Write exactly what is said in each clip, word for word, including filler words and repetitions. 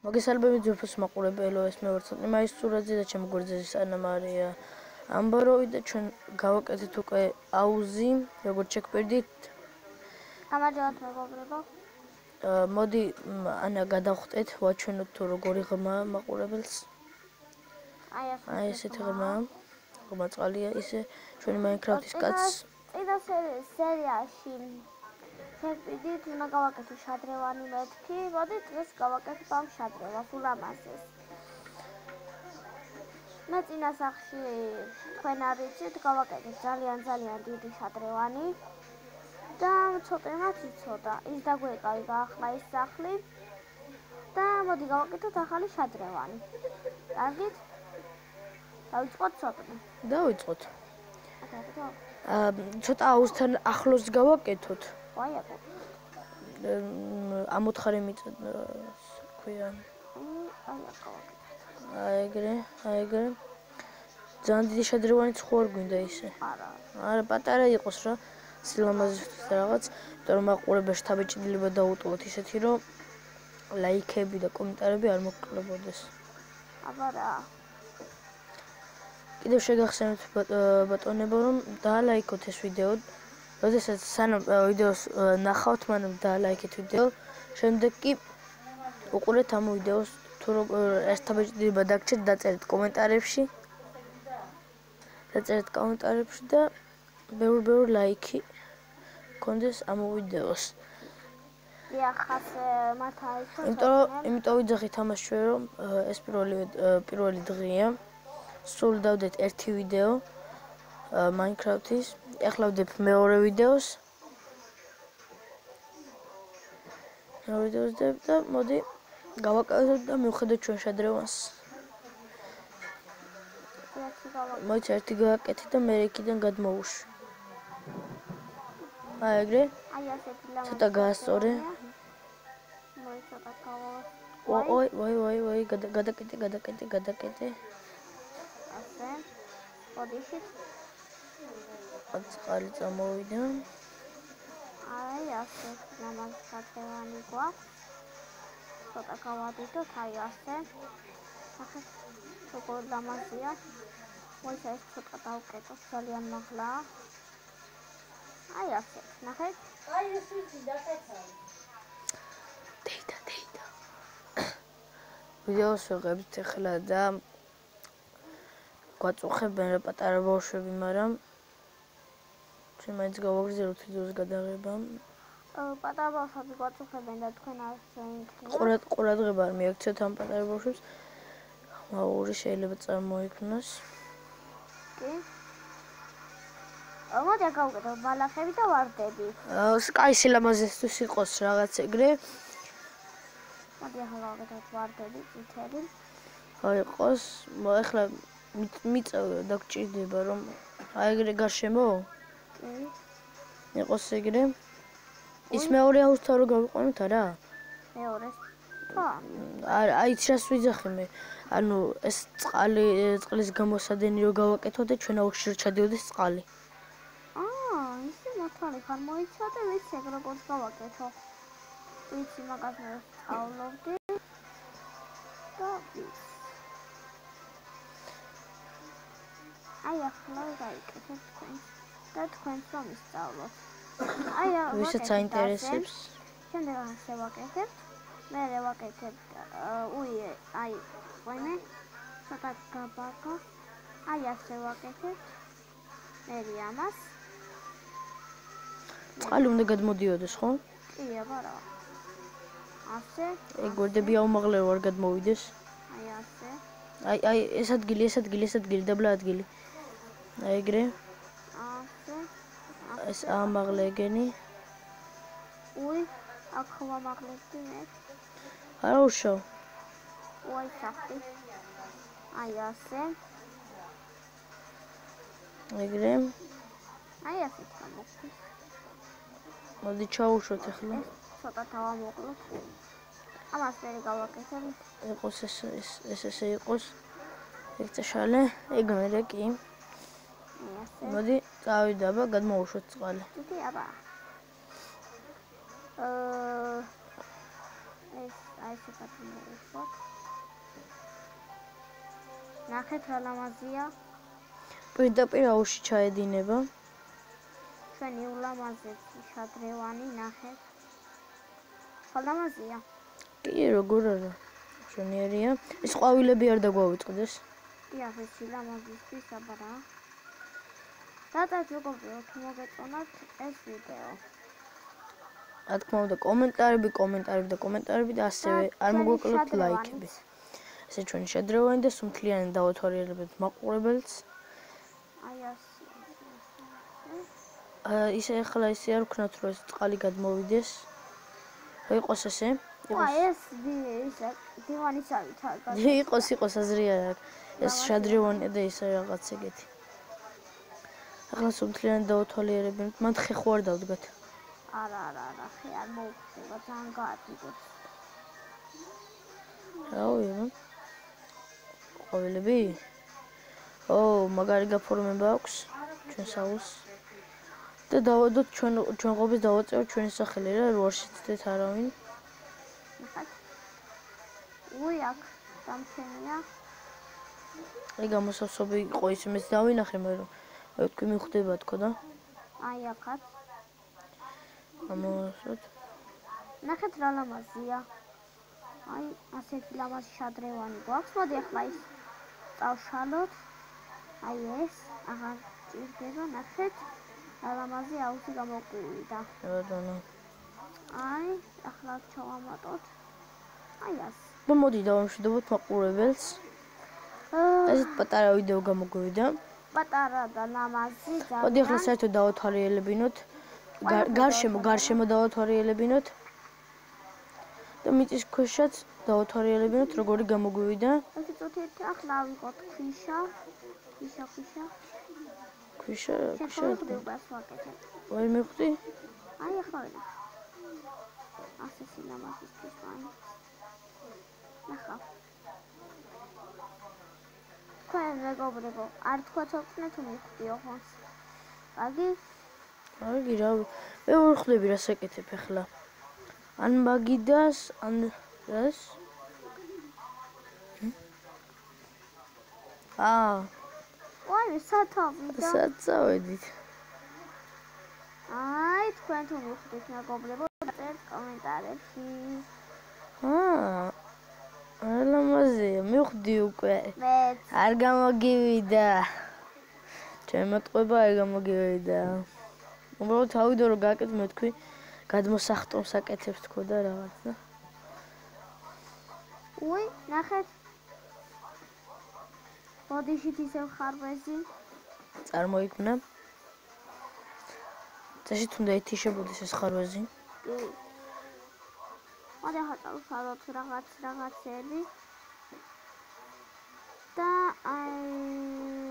მოგესალმებით ძვირფას მაყურებელო, ეს მე ვარ ცოტნე მაისურაძე და ჩემი გვერდზე ანა მარია ამბაროვი და ჩვენ გავაკეთეთ უკვე აუზი, როგორც შეგბერდით. გამარჯობათ მეგობრებო. მოდი ანა გადავხტეთ, ვაჩვენოთ თუ როგორი ღრმა მაყურებელს. აი ესეთი ღრმა. ღრმა წყალია ისე ჩვენი მაინკრაფტის კაცს. წინა სერიაში შეგბერდით უნდა გავაკეთო შადრევანი მეთქი. მოდი დღეს გავაკეთებ ამ შადრევას ულამაზეს. მე წინა სახში თქვენ არ იცით, გავაკეთეთ ძალიან ძალიან დიდი შადრევანი. და ცოტა მათ იცოდა. ის დაგვეკავი გაახლა ის სახლი. და მოდი გავაკეთოთ ახალი შადრევანი. კარგით? დავიწყოთ ცოტნე. დავიწყოთ. აა ცოტა აუზთან ახლოს გავაკეთოთ. აი აკო. ამოთხარი მიწა ქვია. აი აკო. აი ეგრე, აი ეგრე. ძალიან დიდი შადრევანიც ხო არ გვინდა ისე? არა. არა, პატარა იყოს რა. სილამაზისთვის რაღაც, იმიტომ რომ მაყურებელს თავეჭდილება დაუტოვოთ ისეთი, რომ ლაიქები და კომენტარები არ მოკლებოდეს. აბა რა. კიდევ შეგახსენებთ ბატონებო, რომ დაალაიქოთ ეს ვიდეო. როდესაც სანამ ვიდეოს ნახავთ, მანამ დაალაიქეთ ვიდეო. შემდეგ კი უყურეთ ამ ვიდეოს თუ ეს თავეჭდილება დაგჭირთ, დაწერეთ კომენტარებში. დაწერეთ კომენტარებში და ბევრი-ბევრი ლაიქი გქონდეს ამ ვიდეოს. დიახ, მათ აიჩვენეთ. იმიტომ იმიტომ ვიძახით ამას ჩვენ, რომ ეს პირველი პირველი დღეა. სულ დავდეთ ერთი ვიდეო Minecraft-ის. ეხლა ვდებ მეორე ვიდეოს. მეორე ვიდეოს ვდებ და მოდი გავაკეთოთ და მივხედოთ ჩვენ შადრევანს. მოიცა ერთი გავაკეთე და მე იქიდან გადმოვუშვი. აი ეგრე. აი ასეთი ლამაზი. ცოტა გაასწორე. მოიცა და გავა. ой, ой, ой, ой, გადაკეთე, გადაკეთე, გადაკეთე. ასე. ოდიშით. წყალი წამოვიდა. აი ასე ლამაზი შადრევანი გვაქვს. ცოტა გავადიდოთ, აი ასე. ახლა როგორ ლამაზია. მოიცა ეს ცოტა დავკეტო, ძალიან მაღლა. აი ასე, ნახეთ. აი ეს ვიცი დაკეცავ. დეიდა, დეიდა. ვიდეოს ვიღებთ ახლა და გვაწუხებენ რა პატარა ბავშვები, მაგრამ ჩვენ მაინც გავაგრძელოთ ვიდეოს გადაღება. პატარა ბავშვები გვაწუხებენ და თქვენ არ შეინքნიათ. ყურად ყურადღება არ მიაქცევთ ამ პატარა ბავშვებს. ხმაური შეიძლება წარმოიქმნას. კი. მოდი გავუკეთოთ ბალახები და ვარდები. კაი სილამაზესთვის იყოს რაღაც ეგრე. მოდი ახლა გავუკეთოთ ვარდები, წითელი. აი იყოს, ახლა მიწა დაგჭირდება რომ აი ეგრე გარშემო? კი. იყოს ეგრე. ის მეორე აუზთან რო გავიყვანოთ არა? მეორეს. ხო. არა, აი ჩას ვიძახი მე. ანუ ეს წყალი, წყლის გამოსადენი რო გავაკეთოთ და ჩვენ აუზში რო ჩადიოდეს წყალი. აა, ისე მართალი ხარ მოიცა და ვიცი ეგ როგორც გავაკეთო. ვიცი მაგას მე სწავლობდი. და ვიცი. აი ახლა გაიკეთეთ თქვენ. და თქვენს რომ ისწავლოთ. აი ახლა ვისაც აინტერესებს. შემდეგ ასე ვაკეთებ. მე ვაკეთებ უი, აი, ვაიმე. ცოტა გაბაგო. აი ასე ვაკეთებ. მე ამას. წყალი უნდა გადმოდიოდეს, ხო? კი, აბა რა. ასე. ეგ გვერდები აუმაღლეო არ გადმოვიდეს. აი ასე. აი, აი, ეს ადგილი, ეს ადგილი, ეს ადგილი, დაბლა ადგილი. აი ეგრე. ასე. ეს აამაღლე ეგენი. უი, აქ ვამაღლებდი მე. არა უშავ. უი, საფი. აი ასე. ეგრე. აი ასე თამოქი. მოდი ჩაუშვოთ ახლა. ცოტა დავამოკლოთ. ამას მე გავაკეთებ. იყოს ეს ეს ესე იყოს. ეგ წაშალე, ეგ მერე კი. ასე. მოდი წავიდა აბა გადმოვუშვოთ წყალი. დიდი აბა. აა ეს აი ესეთაც მოვუშვათ. ნახეთ რა ლამაზია. პირდაპირ აუში ჩაედინება. ჩვენი ულამაზესი შადრევანი ნახეთ. ხო ლამაზია. კი, როგორ არა. მშვენიერია. ეს ყვავილები არ დაგვავიწყდეს. დიახ, ეს ლამაზისთვის აბარა. რატაც მეგობრებო, თუ მოგეწონათ ეს ვიდეო. რა თქმა უნდა, კომენტარები, კომენტარები და კომენტარები და ასევე არ მოგვეკლოთ ლაიქები. ესე ჩვენი შადრევანი და სუმთლიანი დავათვალიერებთ მაყურებელს. აი ასე. აა ისე ახლა ისე არ ვქნათ, რომ ეს წყალი გადმოვიდეს. რა იყოს ესე? აი ეს ისე დივანისავით არ გაქვს. იყოს, იყოს აზრი არ აქვს. ეს შადრევანია და ისე რაღაც ეგეთი. ახლა სუმთლიანი დავათვალიერებთ, მან ხე ხო არ დავდგათ. არა, არა, არა, ხე არ მოუხდება, ძალიან გაადგოთ. რაოია? ყვავილები? ო, მაგარი გაფორმება აქვს ჩვენ საუს. და დავადოთ ჩვენ ჩვენ ყოფის დავაწევთ ჩვენი სახელი რა, რო არ შეცდეთ არავინ. ნახეთ. უი, აქ დამჩენია. აი გამოსავსები იყო ის მეც დავინახე, მაგრამ მე ვთქვი მიხვდება თქო და. აი აქაც. ამოსოთ. ნახეთ რა ლამაზია. აი ასეთი ლამაზი შადრევანი გვაქვს. მოდი ახლა ის წავშალოთ. აი ეს, აღარ ჭირდება, ნახეთ. რა ლამაზი აუზი გამოგვივიდა. ბატონო. აი, ახლა ჩავამატოთ. აი ეს. და მოდი დავამშვიდობოთ მაყურებელს. ესეთ პატარა ვიდეო გამოგვივიდა. პატარა და ლამაზი ძალიან. მოდი ახლა საერთოდ დავათვალიერებინოთ. გარშემო, გარშემო დავათვალიერებინოთ. და მიწის ქვეშაც დავათვალიერებინოთ, როგორი გამოგვივიდა. ერთი წუთით ახლა ავიღოთ ქვიშა. ქვიშა, ქვიშა. ქვიშა, ქვიშა. შეგხვდებას ვაკეთებ. ვერ მიხვდი? აი ახლა ვიღებ. ასე სილამაზისთვის მაინც. ნახავ. თქვენ მეგობრებო, არ თქვათ ოქნე თუ მიხვდიო ხონს. კარგი? კარგი რა. მე ვერ ხვდები რა საკეთებ ახლა. ან მაგიდას, ან რას? აა. ვაი, სათავიდა. საწავედით. აი, თქვენ თუ მიხვდით მეგობრებო, წერთ კომენტარებში. აა. არა ლამაზია, მიხვდი უკვე. მეც. არ გამოგივიდა. ჩემ მოტყובה არ გამოგივიდა. უბრალოდ თავიდო რომ გააკეთე მე თქვი გადმოსახტომს აკეთებს თქო და რაღაც და. უი, ნახეთ. ბოდიშით ისევ ხარვეზი. წარმოიქმნა. წაშით უნდა ეთიშებოდეს ეს ხარვეზი. კი. მოდი ახლა წავშალოთ რაღაც რაღაცები. და აი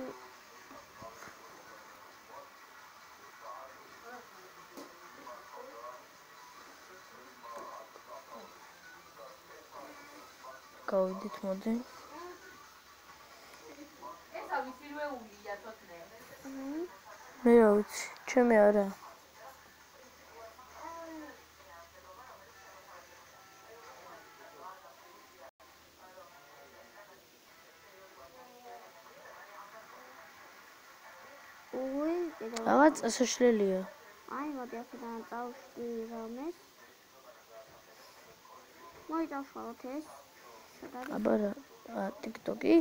გავიდით მოდი. ესა ვისირვეულია თოთნე. მე რა ვიცი, ჩემი არა. უი, კიდევ რაღაც წასაშლელია. აი, მოდი აქედან წავშდი რამეს. მოდი წავშალოთ ეს. აბა რა, TikTok-ი.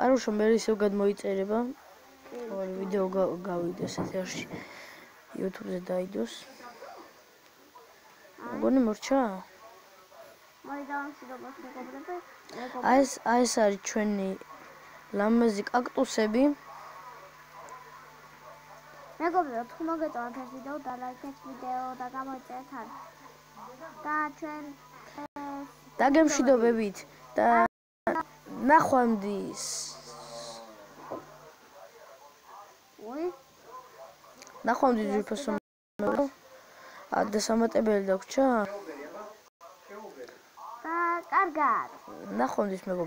არ უშო მე ისევ გადმოიწერება. ორი ვიდეო გავიდეს ეთერში. YouTube-ზე დაიდოს. მოგონი მორჩა? მოდი დავამშვიდობოთ მეგობრებო. აი ეს აი ეს არის ჩვენი ლამაზი კაქტუსები. მეგობრებო, თუ მოგეწონათ ეს ვიდეო, დალაიქეთ ვიდეო და გამოიწერეთ არ. და ჩვენ დაგემშვიდობებით და ნახვამდის. უი, ნახვამდის ძვირფასო მეგობრო. ა დასამატებელი დაგვრჩა? და კარგად. ნახვამდის მეგობრო.